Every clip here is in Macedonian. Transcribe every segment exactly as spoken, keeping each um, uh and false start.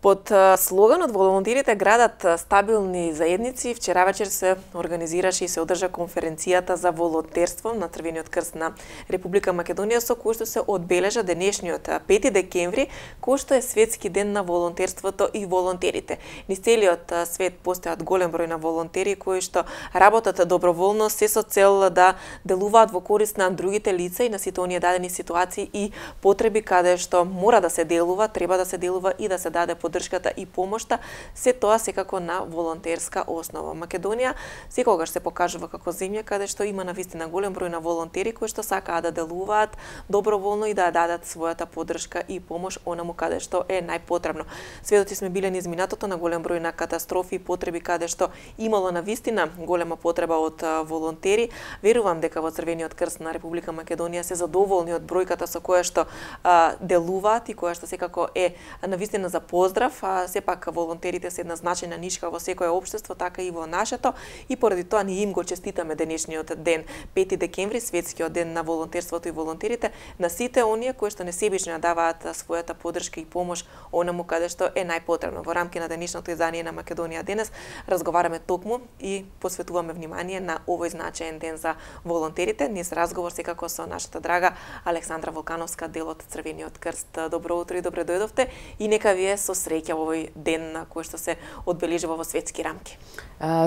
Под слоганот волонтерите градат стабилни заедници, вчера вечер се организираше и се одржа конференцијата за волонтерство на Црвениот крст на Република Македонија, со кој што се одбележа денешниот пети декември, кој што е светски ден на волонтерството и волонтерите. Низ целиот свет постојат голем број на волонтери кои што работат доброволно се со цел да делуваат во корист на другите лица и на сите оние дадени ситуации и потреби каде што мора да се делува, треба да се делува и да се даде поддршката и помошта, се тоа секако на волонтерска основа. Македонија секогаш се покажува како земја каде што има навистина голем број на волонтери кои што сакаат да делуваат доброволно и да дадат својата поддршка и помош онаму каде што е најпотребно. Сведоци сме биле низ минатото на голем број на катастрофи и потреби каде што имало навистина голема потреба од волонтери. Верувам дека во Црвениот крст на Република Македонија се задоволни од бројката со која што а, делуваат и која што секако е навистина за поздрав. А, сепак волонтерите се една значајна нишка во секое општество, така и во нашето, и поради тоа ние им го честитаме денешниот ден, пети декември, светскиот ден на волонтерството и волонтерите, на сите оние кои што несебично даваат својата поддршка и помош онаму каде што е најпотребно. Во рамки на денешното издание на Македонија денес разговараме токму и посветуваме внимание на овој значаен ден за волонтерите. Низ разговор секако со нашата драга Александра Волкановска, дел од Црвениот крст. Добро утро и добре дојдовте и нека ви е со среќа во овој ден на кој што се одбележува во светски рамки.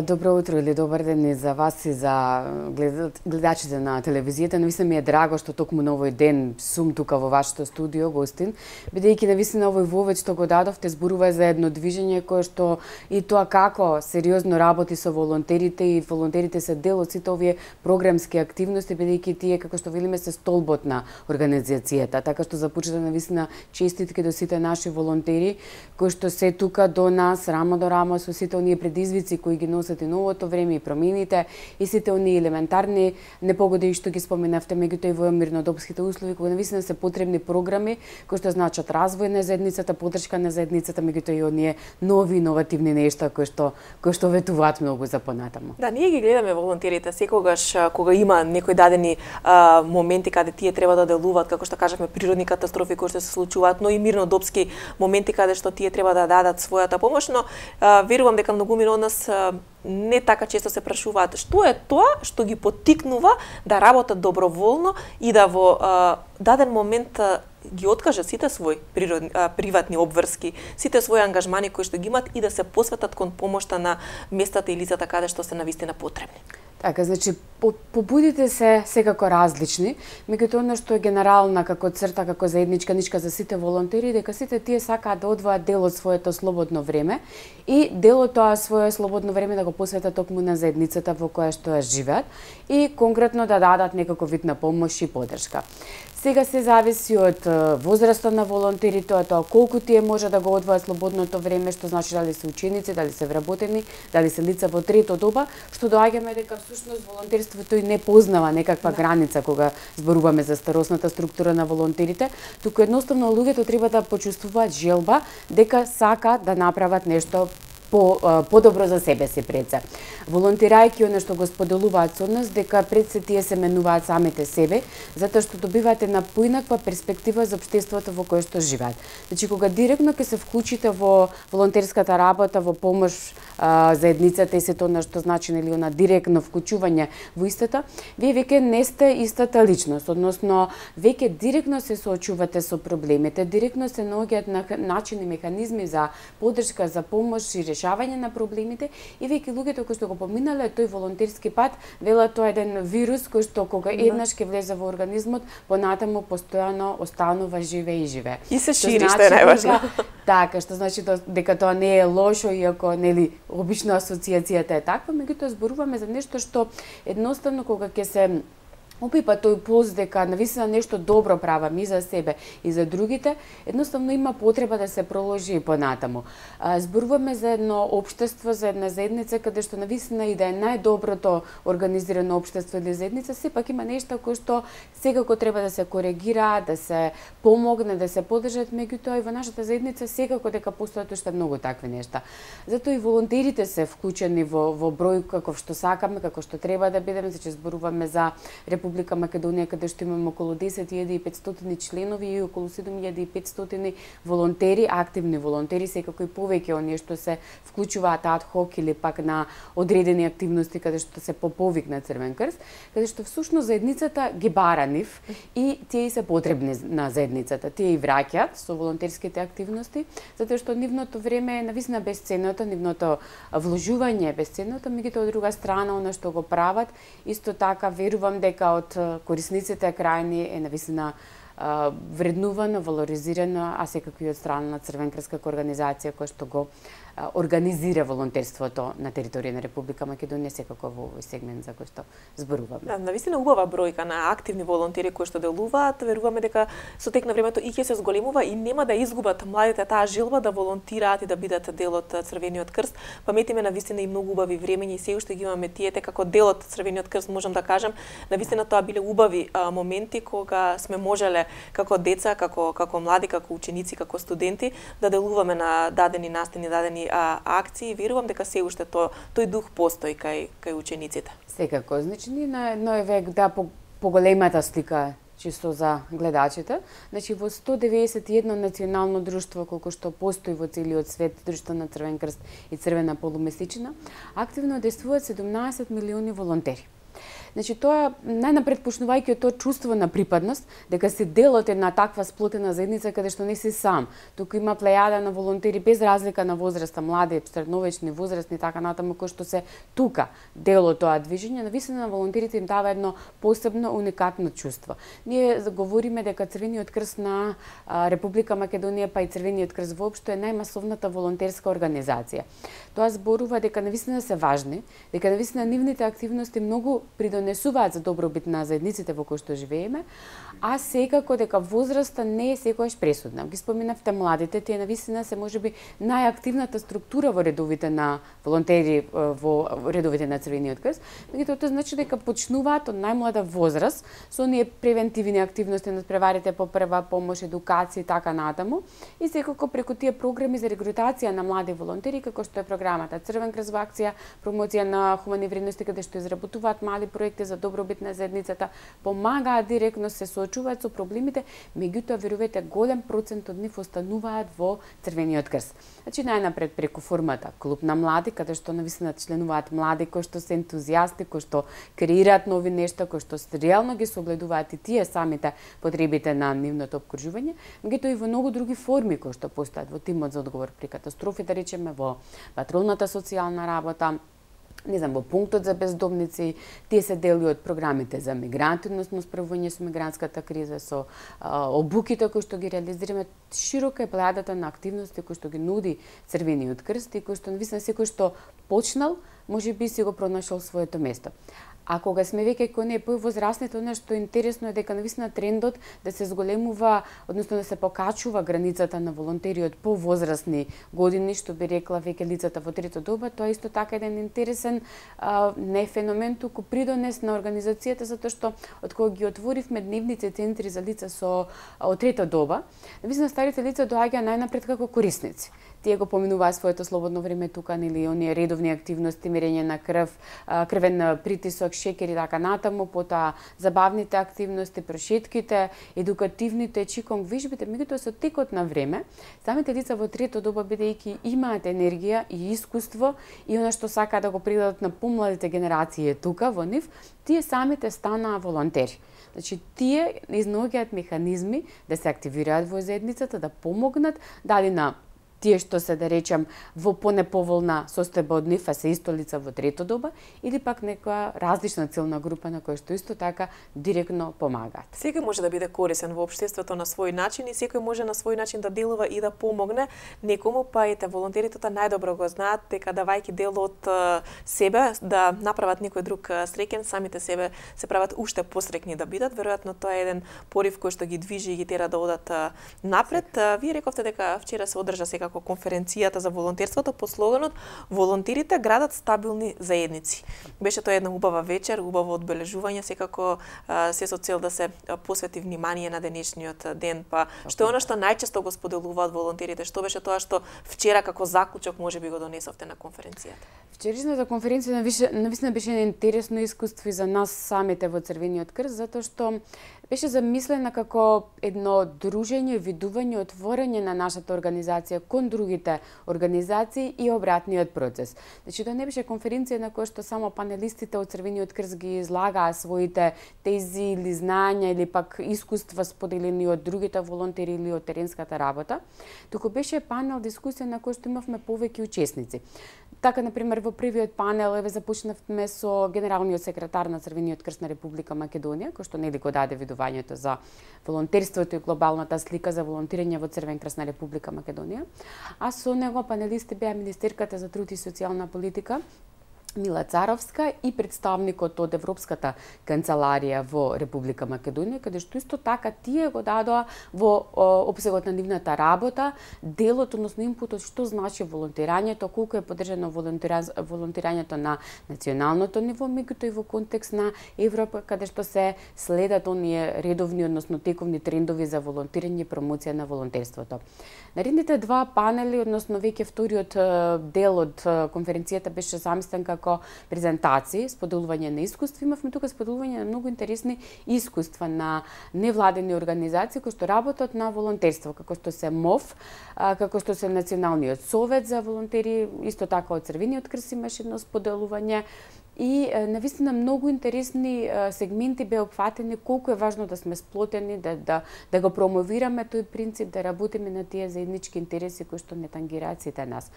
Добро утро или добар ден и за вас и за гледачите на телевизијата. Навистина ми е драго што токму на овој ден сум тука во вашето студио, гостин, бидејќи навистина овој вовед што го дадовте зборува за едно движење кое што и тоа како сериозно работи со волонтерите и волонтерите се дел од сите овие програмски активности, бидејќи тие како што велиме се столбот на организацијата. Така што започна навистина честитки до сите наши волонтери кои што се тука до нас, рамо до рамо со сите оние предизвици кои ги носат и новото време и промените и сите оние елементарни непогоди што ги споменавте, меѓутоа и во мирнодопските услови кога навистина се потребни програми кои што значат развој на заедницата, поддршка на заедницата, меѓутоа и оние нови иновативни нешта кои што кои што ветуваат многу за понатаму. Да, ние ги гледаме волонтерите секогаш кога има некои дадени а, моменти каде тие треба да делуваат, како што кажавме, природни катастрофи кои што се случуваат, но и мирнодопски моменти каде што тие треба да дадат својата помош, но а, верувам дека многумина од нас а, не така често се прашуваат што е тоа што ги поттикнува да работат доброволно и да во а, даден момент а, ги откажат сите своји природни, а, приватни обврски, сите своји ангажмани кои што ги имат и да се посветат кон помошта на местата и лицата каде што се навистина потребни. Така, значи, побудите се секако различни, меѓутоа она што е генерална како црта, како заедничка нишка за сите волонтери, дека сите тие сакаат да одвојат дел од своето слободно време и дел од тоа свое слободно време да го посветат токму на заедницата во која што ја живеат и конкретно да дадат некаков вид на помош и поддршка. Сега се зависи од возраста на волонтерите, од тоа колку тие може да го одвојат слободното време, што значи дали се ученици, дали се вработени, дали се лица во трето доба, што доаѓаме дека всушност волонтерството и не познава некаква граница кога зборуваме за старосната структура на волонтерите, туку едноставно луѓето треба да почувствуваат желба дека сакаат да направат нешто по подобро за себе си пред се. Волонтирајќи она што го споделуваат со нас, дека пред се тие се менуваат самите себе, затоа што добивате на поинаква перспектива за општеството во кое што живеат. Значи кога директно ќе се вклучите во волонтерската работа, во помош а, заедницата и сето она што значи нели она директно вклучување во истата, вие веќе не сте истата личност, односно веќе директно се соочувате со проблемите, директно се наоѓаат на начини, механизми за поддршка, за помош и решавање на проблемите и веќе луѓето кои што го поминале тој волонтерски пат, велат тоа еден вирус кој што кога еднаш ќе влезе во организмот, понатаму постојано останува живе и живе. И се шири, што е најважно. Така, што значи дека тоа не е лошо, иако нели обично асоциацијата е таква, меѓутоа зборуваме за нешто што едноставно кога ќе се опипа тој пулс дека навистина нешто добро правам и за себе и за другите, едноставно има потреба да се проложи и понатаму. Зборуваме за едно општество, за една заедница каде што навистина и да е најдоброто организирано општество или заедница, сепак има нешта кои што секако треба да се коригира, да се помогне, да се поддржат, меѓутоа и во нашата заедница секако дека постојат уште многу такви нешта. Затоа и волонтерите се вклучени во во број каков што сакаме, како што треба да бидеме, значи зборуваме за Република Република Македонија, каде што имаме околу десет илјади и петстотини членови и околу седум илјади и петстотини волонтери, активни волонтери, секако и повеќе оние што се вклучуваат ад хок или пак на одредени активности каде што се по повик на Црвен крст, каде што всушност заедницата ги бара нив и тие се потребни на заедницата. Тие и враќаат со волонтерските активности, затоа што нивното време е навистина бесценното, нивното вложување е бесценното, меѓутоа од друга страна она што го прават, исто така верувам дека од корисниците крајни е навистина вреднувано, валоризирано, а секако и од страна на Црвен крст како организација која што го организира волонтерството на територија на Република Македонија, секако во овој сегмент за кој што зборуваме. Да, навистина убава бројка на активни волонтери кои што делуваат, веруваме дека со тек на времето и ќе се зголемува и нема да изгубат младите таа желба да волонтираат и да бидат дел од Црвениот крст. Паметиме навистина и многу убави времења и се уште ги имаме тиете како дел од Црвениот крст, можам да кажам, навистина тоа биле убави а, моменти кога сме можеле како деца, како како млади, како ученици, како студенти да делуваме на дадени настани, дадени а, акции. Верувам дека се уште тој тој дух постои кај кај учениците. Секако, значи ние на едној век да по поголемата слика чисто за гледачите, значи во сто деветдесет и едно национално друштво колку што постои во целиот свет, друштво на Црвен крст и Црвена полумесечина, активно действуваат седумнаесет милиони волонтери. Значи тоа најнапред почнувајќи од тоа чувство на припадност, дека си дел од една таква сплотена заедница каде што не си сам, туку има плејада на волонтери без разлика на возраста, млади, средновечни, возрастни, така натаму, кои што се тука дел од тоа движење, навистина на волонтерите им дава едно посебно уникатно чувство. Ние говориме дека Црвениот крст на Република Македонија, па и Црвениот крст воопшто е најмасовната волонтерска организација. Тоа зборува дека навистина се важни, дека навистина нивните активности многу придонесуваат за добробит на заедниците во кои што живееме, а секако дека возраста не е секогаш пресудна. Ги споменавте младите, тие навистина се можеби најактивната структура во редовите на волонтери во редовите на Црвениот крст, меѓутоа тоа значи дека почнуваат од најмлада возраст со оние превентивни активности на преварите по прва помош, едукација и така натаму, и секако преку тие програми за регрутација на млади волонтери, како што е програмата Црвен крст во акција, промоција на хумани вредности каде што изработуваат мали проекти за добробит на заедницата, помагаат директно, се соочуваат со проблемите, меѓутоа верувате голем процент од нив остануваат во Црвениот крст. Значи најнапред преку формата клуб на млади, каде што навистина членуваат млади кои што се ентузијасти, кои што креираат нови нешта, кои што реално ги согледуваат и тие самите потребите на нивното опкружување, меѓутоа и во многу други форми кои што постојат во тимот за одговор при катастрофи, да речеме во патролната социјална работа, не знам, во пунктот за бездомници, тие се дели од програмите за мигранти, односно справување со мигрантската криза, со а, обуките кои што ги реализираме. Широка е плејадата на активности кои што ги нуди Црвениот крст и кои што навистина секој што почнал, можеби си го пронашол своето место. А кога сме веќе кон не повозрастните, она што е интересно е дека навистина трендот да се зголемува, односно да се покачува границата на волонтериот по возрастни години, што би рекла веќе лицата во трето доба, тоа е исто така еден интересен а, не феномен, туку придонес на организацијата, затоа што од кога ги отворивме дневните центри за лица со од трета доба, навистина старите лица доаѓаа најнапред како корисници. Тие го поминуваат своето слободно време тука, нели, оние редовни активности, мерење на крв, крвен притисок, шекер и така натаму, потоа забавните активности, прошетките, едукативните, чиконг вежбите, меѓутоа со текот на време, самите лица во трето доба, бидејќи имаат енергија и искуство и она што сакаат да го предадат на помладите генерации тука во нив, тие самите станаа волонтери. Значи, тие изнаоѓаат механизми да се активираат во заедницата, да помогнат, дали на тие што се, да речем, во понеповолна состојба од нив, а се исто лица во трето доба, или пак некоја различна целна група на која што исто така директно помагаат. Секој може да биде корисен во општеството на свој начин и секој може на свој начин да делува и да помогне некому, па ете волонтерите тоа најдобро го знаат дека давајќи дел од себе да направат некој друг среќен, самите себе се прават уште посрекни да бидат. Веројатно тоа е еден порив кој што ги движи и ги тера да одат напред. Вие рековте дека вчера се одржа секако како конференцијата за волонтерството под слоганот "Волонтерите градат стабилни заедници". Беше тоа една убава вечер, убаво одбележување, секако се со цел да се посвети внимание на денешниот ден. Па што е она што најчесто го споделуваат волонтерите? Што беше тоа што вчера како заклучок можеби го донесовте на конференцијата? Вчерашната конференција навистина беше интересно искуство и за нас самите во Црвениот крст, затоа што беше замислена како едно дружење, видување, отворање на нашата организација кон другите организации и обратниот процес. Значи, тоа не беше конференција на која што само панелистите од Црвениот крст ги излагаа своите тези или знања или пак искуства споделени од другите волонтери или од теренската работа, туку беше панел дискусија на кој што имавме повеќе учесници. Така, например, во првиот панел еве започнавме со генералниот секретар на Црвениот крст на Република Македонија, кој што нели го даде видувањето за волонтерството и глобалната слика за волонтирање во Црвен крст на Република Македонија. А со него панелисти беа министерката за труд и социјална политика Мила Царовска и представникот од Европската канцеларија во Република Македонија, каде што исто така тие го дадоа во опсегот на нивната работа делот, односно импутот што значи волонтирањето, колку е поддржано волонтирањето на националното ниво, меѓутоа и во контекст на Европа, каде што се следат оние редовни, односно тековни трендови за волонтирање и промоција на волонтерството. Наредните два панели, односно веќе вториот дел од конференцијата беше замислен како презентации, споделување на искуства. Имавме тука споделување на многу интересни искуства на невладени организации кои што работат на волонтерство, како што се МОВ, како што се Националниот совет за волонтери, исто така од Црвениот крст имаше едно споделување. И навистина многу интересни сегменти беа опфатени, колку е важно да сме сплотени, да, да, да го промовираме тој принцип, да работиме на тие заеднички интереси кои што не тангираат сите нас.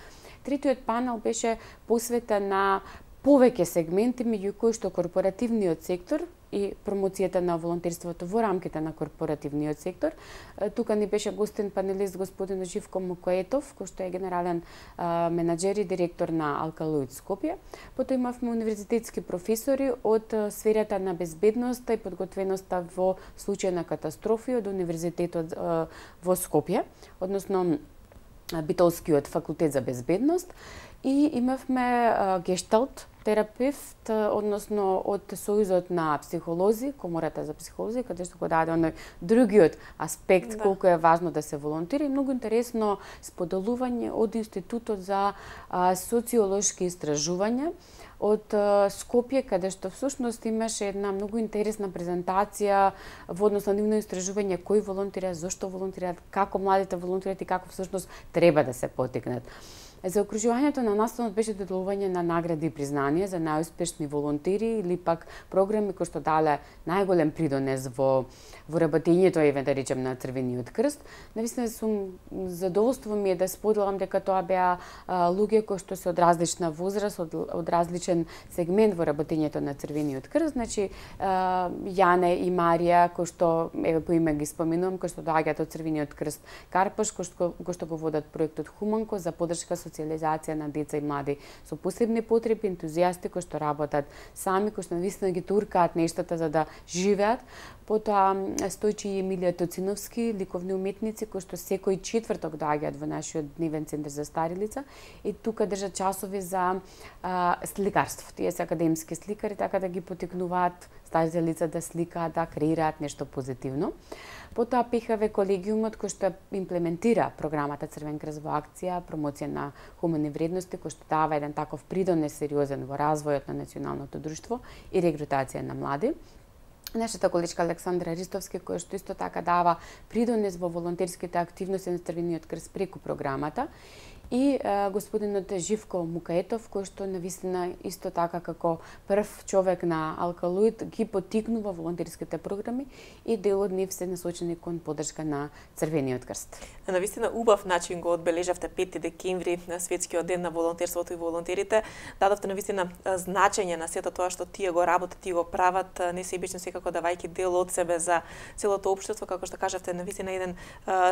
Третиот панел беше посветен на повеќе сегменти, меѓу кои што корпоративниот сектор и промоцијата на волонтерството во рамките на корпоративниот сектор. Тука ни беше гостен панелист господин Живко Мукоетов, кој што е генерален а, менаџер и директор на Алкалоид Скопје. Потоа имавме универзитетски професори од сферата на безбедноста и подготвеноста во случај на катастрофи од Универзитетот а, во Скопје, односно Битолскиот факултет за безбедност, и имавме а, гешталт терапевт, односно од Сојузот на психолози, Комората за психолози, каде што го даде оној другиот аспект, да, колку е важно да се волонтира, и многу интересно споделување од Институтот за а, социолошки истражувања од а, Скопје, каде што всушност имаше една многу интересна презентација во однос на нивно истражување кои волонтираат, зошто волонтираат, како младите волонтираат и како всушност треба да се поттикнат. За окружувањето на настанот беше доделување на награди и признанија за најуспешни волонтери или пак програми кои што дале најголем придонес во во работењето, еве да речем, на Црвениот крст. Навистина сум задоволство ми е да споделам дека тоа беа а, луѓе кои што се од различна возраст, од, од различен сегмент во работењето на Црвениот крст. Значи а, Јане и Марија, кои што еве по име ги споменувам, кои што доаѓаат од Црвениот крст Карпаш, кои што, кои што го водат проектот Хуманко за поддршка социализација на деца и млади со посебни потреби, ентузијасти кои што работат сами, кои што навистина ги туркаат нештата за да живеат. Потоа Стојчи и Емилија Тоциновски, ликовни уметници кои што секој четврток доаѓаат во нашиот дневен центар за стари лица и тука држат часови за а, сликарство. Тие се академски сликари, така да ги поттикнуваат старите лица да сликаат, да креираат нешто позитивно. Потоа ПХВ колегиумот кој што имплементира програмата Црвен крст во акција, промоција на хумани вредности, кој што дава еден таков придонес сериозен во развојот на националното друштво и регрутација на млади. Нашата количка Александра Ристовски, која што исто така дава придонес во волонтерските активности на Црвениот крст преку програмата, и а, господинот Живко Мукаетов, кој што навистина исто така како прв човек на Алкалоид ги поттикнува волонтерските програми и дел од нив се насочени кон поддршка на Црвениот крст. Навистина убав начин го одбележавте пети декември, на светскиот ден на волонтерството и волонтерите. Дадовте навистина значење на сето тоа што тие го работат, тие го прават, несебично секако давајќи дел од себе за целото општество, како што кажавте, навистина еден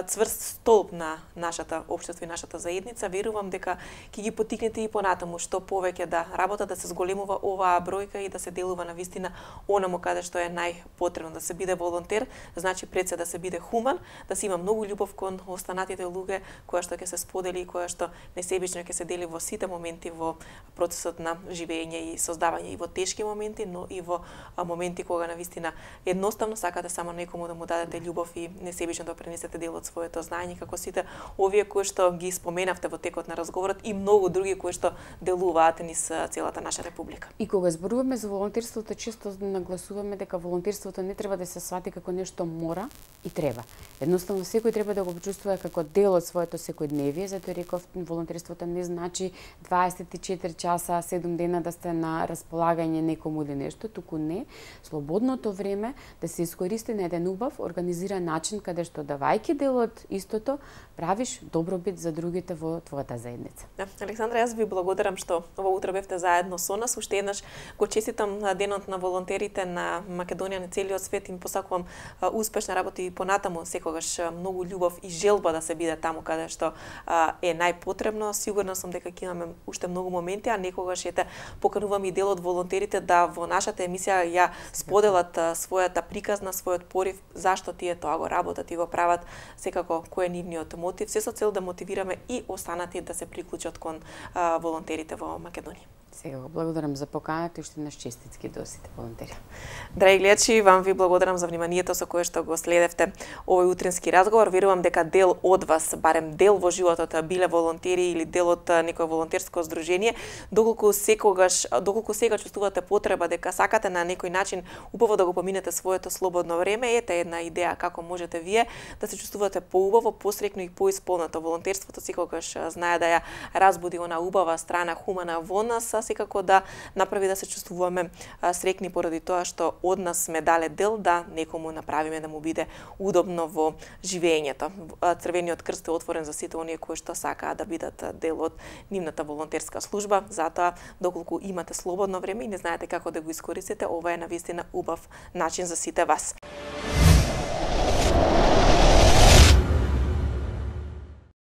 цврст столб на нашата општество и нашата заедница. заедница, верувам дека ќе ги поттикнете и понатаму што повеќе да работат, да се зголемува оваа бројка и да се делува на вистина онаму каде што е најпотребно, да се биде волонтер, значи пред се да се биде хуман, да се има многу љубов кон останатите луѓе, која што ќе се сподели и која што несебично ќе се дели во сите моменти во процесот на живење и создавање и во тешки моменти, но и во моменти кога на вистина едноставно сакате само некому да му дадете љубов и несебично да пренесете дел од своето знаење, како сите овие кои што ги споменавте во текот на разговорот и многу други кои што делуваат низ целата наша република. И кога зборуваме за волонтерството, често нагласуваме дека волонтерството не треба да се свати како нешто мора и треба. Едноставно секој треба да го почувствува како дел од своето секојдневие, затоа реков волонтерството не значи дваесет и четири часа, седум дена да сте на располагање некому или нешто, туку не, слободното време да се искористи на еден убав, организиран начин каде што давајќи дел од истото, правиш добробит за другите во твојата заедница. Да, Александра, јас ви благодарам што ова утро бевте заедно со нас. Уште еднаш го честитам денот на волонтерите на Македонија, на целиот свет, им посакувам успешна работа и понатаму, секогаш многу љубов и желба да се биде таму каде што е најпотребно. Сигурна сум дека ќе имаме уште многу моменти, а некогаш ете поканувам и дел од волонтерите да во нашата емисија ја споделат својата приказна, својот порив, зашто тие тоа го работат и го прават, секако кој е нивниот мотив, се со цел да мотивираме и останати да се приклучат кон а, волонтерите во Македонија. Сега го благодарам за поканата и уште еднаш честитки до сите волонтери. Драги гледачи, вам ви благодарам за вниманието со кое што го следевте овој утрински разговор. Верувам дека дел од вас, барем дел во животот, биле волонтери или дел од некое волонтерско здружение, доколку секогаш, доколку сега чувствувате потреба дека сакате на некој начин убаво да го поминете своето слободно време, ете една идеја како можете вие да се чувствувате поубаво, посрекно и поисполнато. Волонтерството секогаш знае да ја разбуди она убава страна, хумана во нас, секако да направи да се чувствуваме срекни поради тоа што од нас сме дале дел да некому направиме да му биде удобно во живењето. Црвениот крст е отворен за сите оние кои што сакаат да бидат дел од нивната волонтерска служба, затоа доколку имате слободно време и не знаете како да го искористите, ова е навистина убав начин за сите вас.